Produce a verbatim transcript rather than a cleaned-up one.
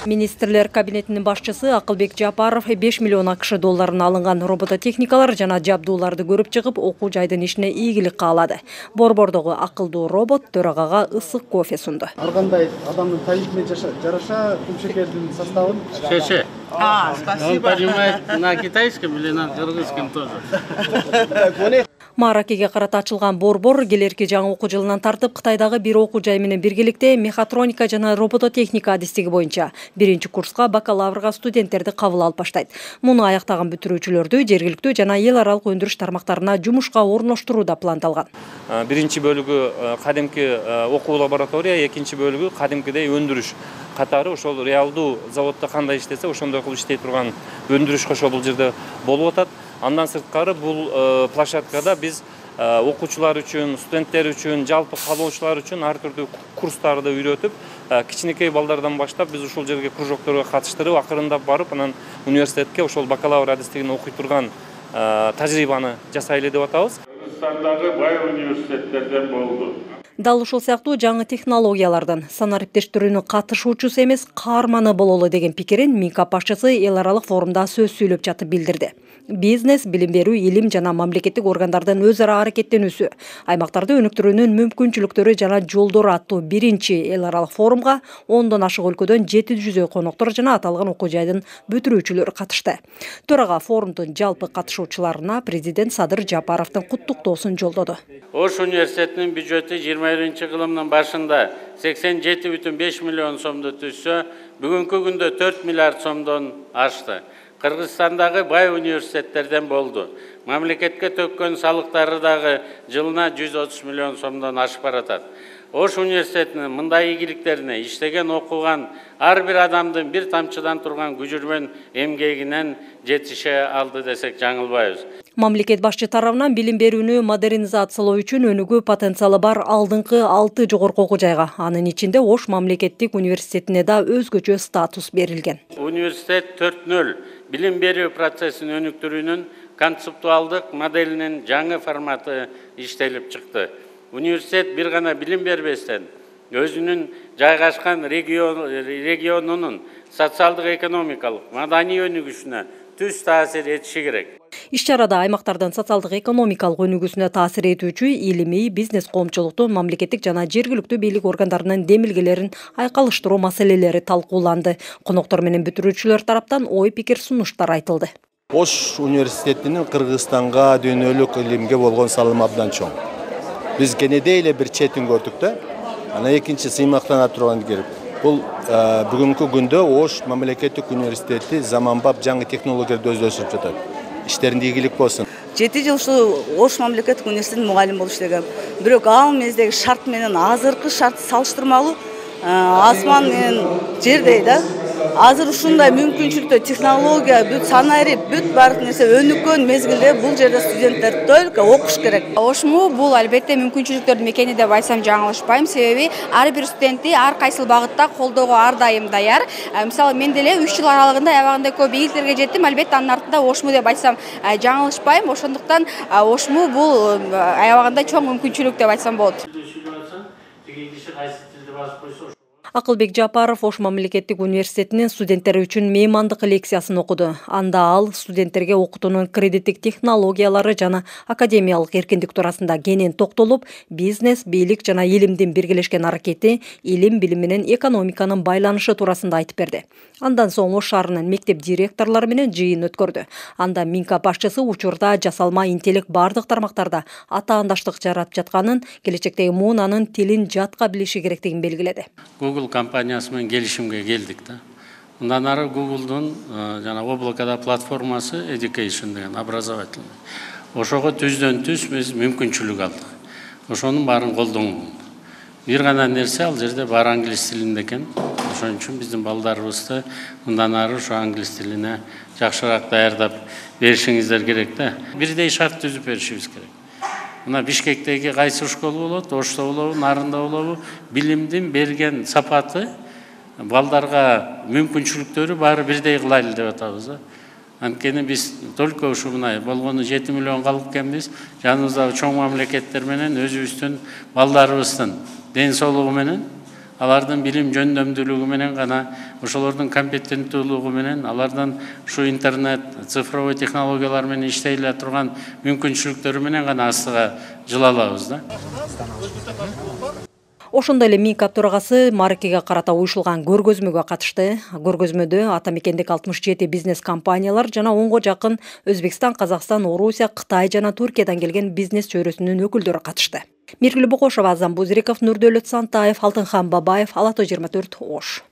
Министрлер кабинетинин башчысы Акылбек Жапаров беш миллион акш долларын алынган робототехникалар жана жабдууларды көрүп чыгып, окуу жайдын ишине ийгилик каалады. Борбордогу акылдуу робот төрагага ысык кофе сунду. Ар кандай адамдын табитине жараша күмшекердин составын. Шеше. А, спасибо. Он понимает на китайском или на кыргызском тоже. Маракеге карата ачылган борбор келерки жаңы окуу жылынан тартып Кытайдагы бир окуу жай менен биргеликте мехатроника жана робототехника адистиги боюнча биринчи курска бакалаврга студенттерди кабыл алып баштайт. Муну аяктаган бүтүрүүчүлөрдү жергиликтүү жана эл аралык өндүрүш тармактарына жумушка орноштуруу да пландалган. Биринчи бөлүгү кадимки окуу лаборатория, экинчи бөлүгү кадимкидей өндүрүш катары ошол реалдуу заводдо кандай иштесе ошондой кылып иштей турган өндүрүш ошол бул жерде болуп атат. Андан сырткары бул площадкада биз окуучулар үчүн, студенттер үчүн, жалпы каалоочулар үчүн ар түрдүү курстарды үйрөтүп, кичинекей балдардан баштап биз ушул жерге кружокторго катыштырып, акырындап барып, анан университетке ошол бакалавр адистигин окуй турган тажрыйбаны жасайлы деп атабыз. Кыргызстандагы бай университеттерден болду. Дал ушул сыяктуу жаңы технологиялардан санариптештирүүнүн катышуучусу эмес, каарманы бололу деген пикирин Минкап башчысы эл аралык форумда сөз сүйлөп жатып билдирди. Бизнес, билим берүү, илим жана мамлекеттик органдардын өз ара аракеттенүүсү, аймактарды өнүктүрүүнүн мүмкүнчүлүктөрү жана жолдору аттуу биринчи эл аралык форумга ондон ашык өлкөдөн жети жүздөй коноктор жана аталган окуу жайдын бүтүрүүчүлөрү катышты. Төрага форумдун жалпы катышуучуларына президент Садыр Жапаровдун куттуктоосун жолдоду. Ош университетинин бюджети жыйырма биринчи кылымдын башында сексен жети бүтүн беш миллион сомду түзсө, бүгүнкү күндө төрт миллиард сомдон ашты. Кыргызстандагы бай университеттерден болду. Мамлекетке төккөн салыктары дагы жылына жүз отуз миллион сомдон ашып баратат. Ош университетинин мындай ийгиликтерине иштеген, окуган ар бир адамдын бир тамчыдан турган күжүрмөн эмгегинен жетише алды десек жаңылбайбыз. Мамлекет башчы тарабынан билим берүүнү модернизациялоо үчүн өнүгүү потенциалы бар алдыңкы алты жогорку окуу жайга, анын ичинде Ош мамлекеттик университетине да өзгөчө статус берилген. Университет төрт нөл билим берүү процессин өнүктүрүүнүн концептуалдык моделинин жаңы форматы иштелип чыкты. Университет бир гана билим бербестен, өзүнүн жайгашкан регионунун социалдык экономикалык, маданий өнүгүшүнө түз таасир этиши керек. Иш-чарада аймактардын социалдык экономикалык өнүгүүсүнө таасир этүүчү илимий, бизнес коомчулуктун, мамлекеттик жана жергиликтүү бийлик органдарынын демилгелерин айкалыштыруу маселелери талкууланды. Коноктор менен бүтүрүүчүлөр тараптан ой пикир сунуштар айтылды. Ош университетинин Кыргызстанга дүйнөлүк илимге болгон салымы абдан чоң. Биз кенеде эле бир четин көрдүк да. Анан экинчи сыймактана турган керек. Бул бүгүнкү күндө Ош мамлекеттик университети заманбап жаңы технологияларды өздөштүрүп жатат. Иштеринде ийгилик болсун. жети жыл ушул Ош мамлекеттик университетинин мугалим болуп иштегем. Бирок ал мездеги шарт менен азыркы шарт салыштырмалуу асман менен жердей да. Азыр ушундай мүмкүнчүлүктөр, технология, бүт санарип, бүт баардык нерсе өнүккөн мезгилде бул жерде студенттер только окуш керек. Ошму бул албетте мүмкүнчүлүктөрдүн мекени деп айтсам жаңылышпайм, себеби ар бир студентти ар кайсыл багытта колдоого ар дайым даяр. Мисалы мен деле үч жыл аралыгында аябагандай көп ийгиликтерге жеттим, албетте анын артында Ошму деп айтсам жаңылышпайм. Ошондуктан Ошму бул аябагандай чоң мүмкүнчүлүк деп айтсам болот. Акылбек Жапаров Ош мамлекеттик университетинин студенттери үчүн меймандык лекциясын окуду. Анда ал студенттерге окутуунун кредиттик технологиялары жана академиялык эркиндик туурасында кенен токтолуп, бизнес, бийлик жана илимдин биргелешкен аракети, илим, билим менен экономиканын байланышы туурасында айтып берди. Андан соң Ош шаарынын мектеп директорлору менен жыйын өткөрдү. Анда Минкап башчысы учурда жасалма интеллект бардык тармактарда атаандаштык жаратып жатканын, келечектеги муунанын тилин жатка билиши керектигин белгиледи. Google компаниясы менен келишимге келдик да. Мындан ары Google'дун жана облакада платформасы Education деген образовательный. Ошого түздөн түз биз мүмкүнчүлүк алдык. Ошонун баарын колдонгон. Бир гана нерсе ал жерде бар англис тилинде экен. Ошон үчүн биздин балдарыбызды мындан ары ошо англис тилине жакшыраак даярдап беришиңиздер керек да. Бирдей шарт түзүп беришибиз керек. Мына Бишкектеги кайсы школа болот, Ошто болобу, Нарында болобу, билимдин берген сапаты, балдарга мүмкүнчүлүктөрү баары бирдей кылайлы деп атабыз да. Анткени биз только ушу мына болгону жети миллион калып экенбиз, жаныбыздагы чоң мамлекеттер менен өзүбүздүн балдарыбыздын ден соолугу менен алардын билим жөндөмдүүлүгү менен гана, ошолордун компетенттүүлүгү менен, алардын ушу интернет, цифровой технологиялар менен иштей эле турган мүмкүнчүлүктөрү менен гана астыга жыла алабыз да. Ошондой эле МИКап төрагасы Маркиге карата уюшулган көргөзмөгө катышты. Көргөзмөдө ата мекендик алтымыш жети бизнес компаниялар жана онго жакын Өзбекстан, Казакстан, Орусия, Кытай жана Түркиядан келген бизнес чөйрөсүнүн өкүлдөрү катышты. Миргүл Бокошова, Азам Бузриков, Нурдөлөт Сантаев, Алтынхан Бабаев, Ала той жыйырма төрт, Ош.